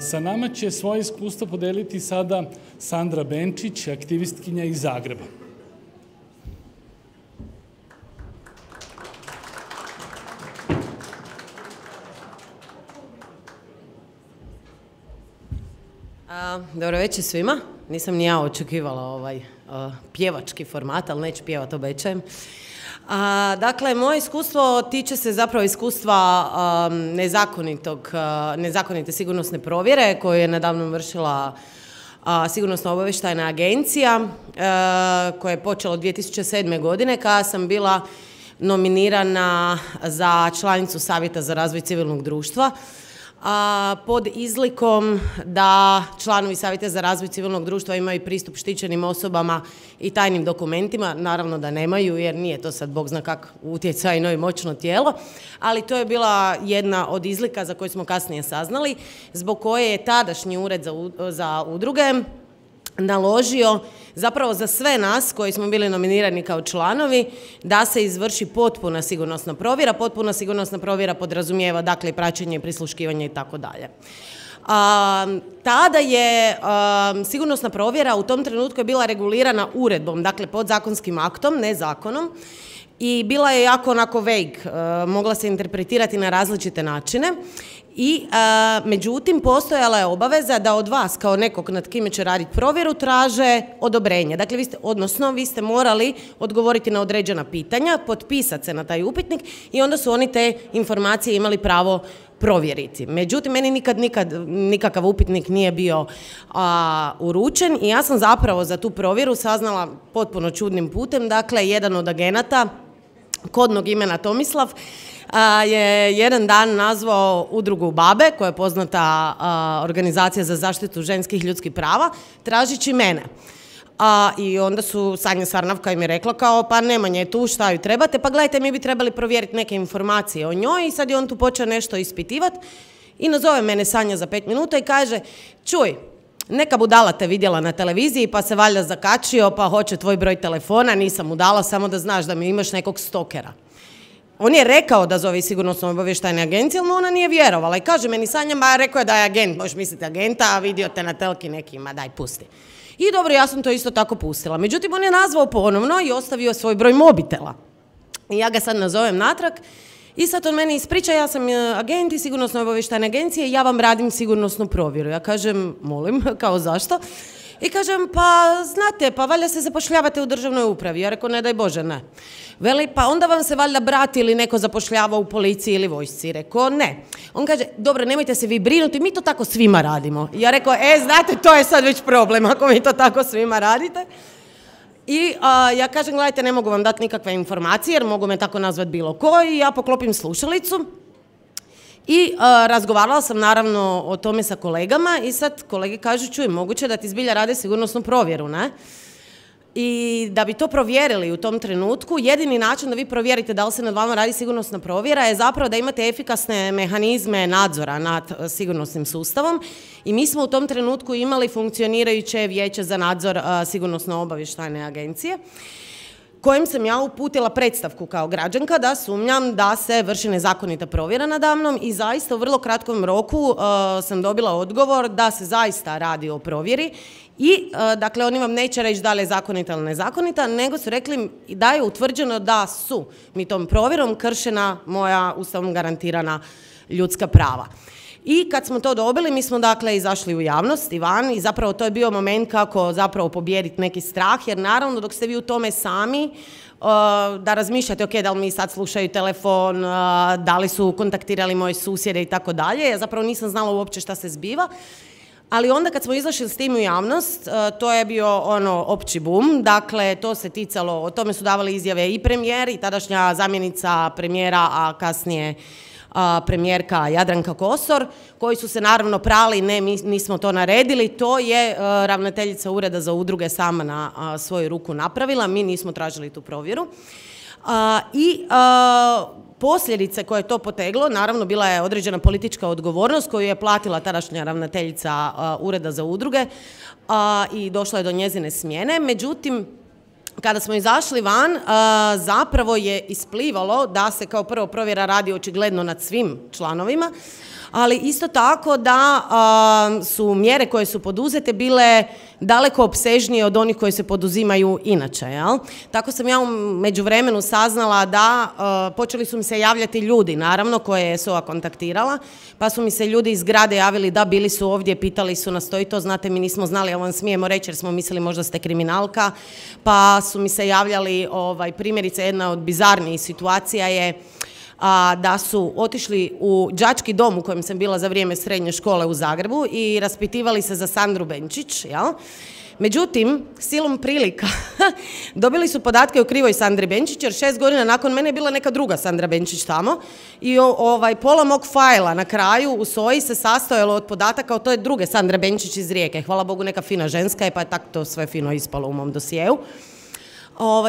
Sa nama će svoje iskustvo podeliti sada Sandra Benčić, aktivistkinja iz Zagreba. Dobro večer svima. Nisam ni ja očekivala ovaj pjevački format, ali neću pjevat, obećajem. Dakle, moje iskustvo tiče se zapravo iskustva nezakonite sigurnosne provjere koju je nedavno vršila Sigurnosno-obavještajna agencija koja je počela od 2007. godine kada sam bila nominirana za članicu Savjeta za razvoj civilnog društva pod izlikom da članovi Savjeta za razvoj civilnog društva imaju pristup štićenim osobama i tajnim dokumentima. Naravno da nemaju, jer nije to sad bog zna kak utjecajno i moćno tijelo, ali to je bila jedna od izlika za koju smo kasnije saznali, zbog koje je tadašnji ured za udruge naložio zapravo za sve nas koji smo bili nominirani kao članovi da se izvrši potpuna sigurnosna provjera. Potpuna sigurnosna provjera podrazumijeva dakle praćenje, prisluškivanje i tako dalje. Tada je sigurnosna provjera u tom trenutku je bila regulirana uredbom, dakle podzakonskim aktom, ne zakonom, i bila je jako onako vague, mogla se interpretirati na različite načine. I međutim postojala je obaveza da od vas kao nekog nad kime će raditi provjeru traže odobrenje. Dakle, vi ste morali odgovoriti na određena pitanja, potpisati se na taj upitnik i onda su oni te informacije imali pravo provjeriti. Međutim, meni nikakav upitnik nije bio uručen i ja sam zapravo za tu provjeru saznala potpuno čudnim putem. Dakle, jedan od agenata, kodnog imena Tomislav, je jedan dan nazvao udrugu BaBe, koja je poznata organizacija za zaštitu ženskih ljudskih prava, tražići mene. I onda su Sanja Sarnavka im je rekla kao, pa Nemanja je tu, šta ju trebate, pa gledajte, mi bi trebali provjeriti neke informacije o njoj i sad je on tu počeo nešto ispitivati i nazove mene Sanja za 5 minuta i kaže, čuj, neka budala te vidjela na televiziji pa se valjda zakačio pa hoće tvoj broj telefona, nisam mu dala, samo da znaš da mi imaš nekog stokera. On je rekao da zove Sigurnosno-obavještajne agencije, ali ona nije vjerovala. I kaže meni Sanja, ma rekao je da je agent, možeš misliti agenta, a vidio te na telki nekima, daj pusti. I dobro, ja sam to isto tako pustila. Međutim, on je nazvao ponovno i ostavio svoj broj mobitela. I ja ga sad nazovem natrag i sad on meni ispriča, ja sam agent iz Sigurnosno-obavještajne agencije i ja vam radim sigurnosnu provjeru. Ja kažem, molim, kao zašto? I kažem, pa znate, pa valjda se zapošljavate u državnoj upravi. Ja rekao, ne daj Bože, ne. Veli, pa onda vam se valjda brat ili neko zapošljava u policiji ili vojsci. Rekao, ne. On kaže, dobro, nemojte se vi brinuti, mi to tako svima radimo. Ja rekao, znate, to je sad već problem, ako mi to tako svima radite. I ja kažem, gledajte, ne mogu vam dati nikakve informacije, jer mogu me tako nazvati bilo ko, i ja poklopim slušalicu. I razgovarala sam naravno o tome sa kolegama i sad kolege kažu, čuj, moguće da ti zbilja rade sigurnosnu provjeru, ne? I da bi to provjerili u tom trenutku, jedini način da vi provjerite da li se nad vama radi sigurnosna provjera je zapravo da imate efikasne mehanizme nadzora nad sigurnosnim sustavom i mi smo u tom trenutku imali funkcionirajuće vijeće za nadzor Sigurnosno-obavještajne agencije, kojim sam ja uputila predstavku kao građanka da sumnjam da se vrši nezakonita provjera nadamnom i zaista u vrlo kratkom roku sam dobila odgovor da se zaista radi o provjeri i dakle oni vam neće reći da li je zakonita ili nezakonita, nego su rekli da je utvrđeno da su mi tom provjerom kršena moja ustavom garantirana ljudska prava. I kad smo to dobili, mi smo dakle izašli u javnost i van i zapravo to je bio moment kako zapravo pobijediti neki strah, jer naravno dok ste vi u tome sami, da razmišljate, ok, da li mi sad slušaju telefon, da li su kontaktirali moje susjede i tako dalje, ja zapravo nisam znala uopće šta se zbiva. Ali onda kad smo izašli s tim u javnost, to je bio opći bum, dakle to se ticalo, o tome su davali izjave i premijer i tadašnja zamjenica premijera, a kasnije premijerka Jadranka Kosor, koji su se naravno prali, ne, mi nismo to naredili, to je ravnateljica Ureda za udruge sama na svoju ruku napravila, mi nismo tražili tu provjeru. I posljedice koje je to poteglo, naravno bila je određena politička odgovornost koju je platila tadašnja ravnateljica Ureda za udruge i došlo je do njezine smjene, međutim, kada smo izašli van, zapravo je isplivalo da se kao prvo provjera radi očigledno nad svim članovima, ali isto tako da su mjere koje su poduzete bile daleko opsežnije od onih koje se poduzimaju inače. Jel? Tako sam ja u međuvremenu saznala da počeli su mi se javljati ljudi, naravno, koje je SOA kontaktirala, pa su mi se ljudi iz zgrade javili da bili su ovdje, pitali su nas to i to, znate, mi nismo znali, ali vam smijemo reći jer smo mislili možda ste kriminalka, pa su mi se javljali, primjerice, jedna od bizarnijih situacija je da su otišli u đački dom u kojem sam bila za vrijeme srednje škole u Zagrebu i raspitivali se za Sandru Benčić, jel? Međutim, silom prilika dobili su podatke o krivoj Sandri Benčić, jer 6 godina nakon mene je bila neka druga Sandra Benčić tamo i pola mog fajla na kraju u SOA-i se sastojalo od podataka o toj druge Sandre Benčić iz Rijeke. Hvala Bogu, neka fina ženska je, pa je tako to sve fino ispalo u mom dosjeu.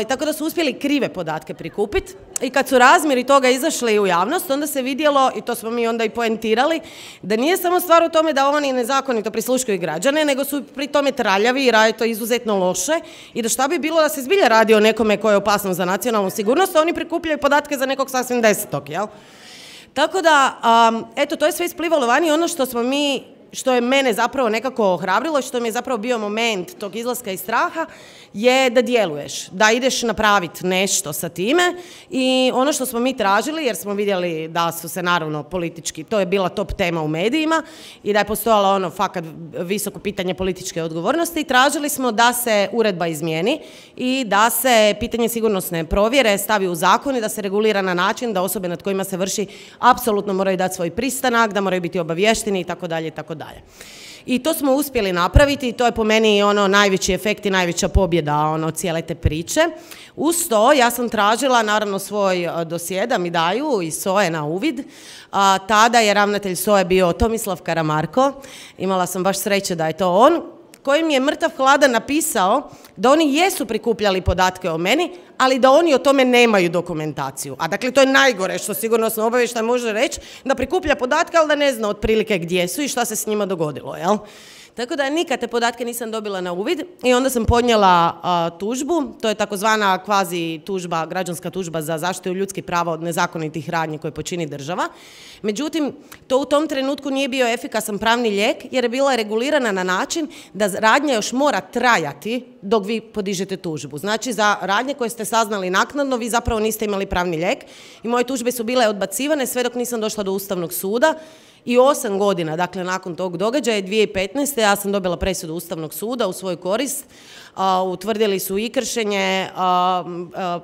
Tako da su uspjeli krive podatke prikupiti i kad su razmjeri toga izašli u javnost, onda se vidjelo, i to smo mi onda i poentirali, da nije samo stvar u tome da oni nezakonito prisluškuju građane, nego su pri tome traljavi i rade to izuzetno loše i da šta bi bilo da se zbilja radi o nekome koji je opasno za nacionalnu sigurnost, a oni prikupljaju podatke za nekog sasvim desetog, jel? Tako da, eto, to je sve isplivalo van i ono što je mene zapravo nekako ohrabrilo i što mi je zapravo bio moment tog izlaska iz straha je da djeluješ, da ideš napraviti nešto sa time i ono što smo mi tražili, jer smo vidjeli da su se naravno politički, to je bila top tema u medijima i da je postojalo fakat visoko pitanje političke odgovornosti i tražili smo da se uredba izmijeni i da se pitanje sigurnosne provjere stavi u zakon i da se regulira na način da osobe nad kojima se vrši apsolutno moraju dati svoj pristanak, da moraju biti obavješteni itd. itd. I to smo uspjeli napraviti i to je po meni najveći efekt i najveća pobjeda cijele te priče. Uz to ja sam tražila naravno svoj dosje da mi daju iz SOA-e na uvid. Tada je ravnatelj SOA-e bio Tomislav Karamarko, imala sam baš sreće da je to on, koji mi je mrtav hladan napisao da oni jesu prikupljali podatke o meni, ali da oni o tome nemaju dokumentaciju. A dakle, to je najgore što sigurnosno obavještaj može reći, da prikuplja podatke, ali da ne zna otprilike gdje su i šta se s njima dogodilo, jel? Tako da nikad te podatke nisam dobila na uvid i onda sam podnijela tužbu, to je takozvana kvazi tužba, građanska tužba za zaštitu ljudskih prava od nezakonitih radnji koje počini država. Međutim, to u tom trenutku nije bio efikasan pravni lijek jer je bila regulirana na način da radnja još mora trajati dok vi podižete tužbu. Znači, za radnje koje ste saznali naknadno, vi zapravo niste imali pravni lijek i moje tužbe su bile odbacivane sve dok nisam došla do Ustavnog suda. I 8 godina, dakle, nakon tog događaja, 2015. ja sam dobila presudu Ustavnog suda u svoju korist. Utvrdili su i kršenje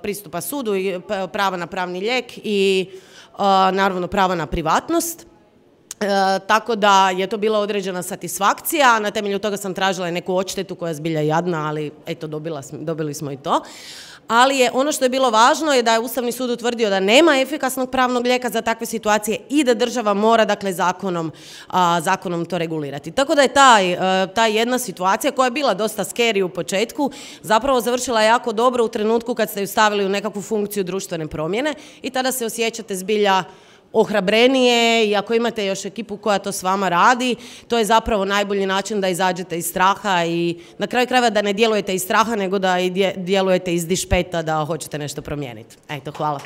pristupa sudu, i prava na pravni lijek i naravno prava na privatnost. Tako da je to bila određena satisfakcija, na temelju toga sam tražila neku odštetu koja je zbilja jadna, ali eto, dobili smo i to. Ali je ono što je bilo važno je da je Ustavni sud utvrdio da nema efikasnog pravnog lijeka za takve situacije i da država mora, dakle, zakonom to regulirati. Tako da je ta jedna situacija koja je bila dosta scary u početku zapravo završila jako dobro u trenutku kad ste ju stavili u nekakvu funkciju društvene promjene i tada se osjećate zbilja ohrabrenije i ako imate još ekipu koja to s vama radi, to je zapravo najbolji način da izađete iz straha i na kraju krajeva da ne djelujete iz straha, nego da djelujete iz dišpeta da hoćete nešto promijeniti. Eto, hvala.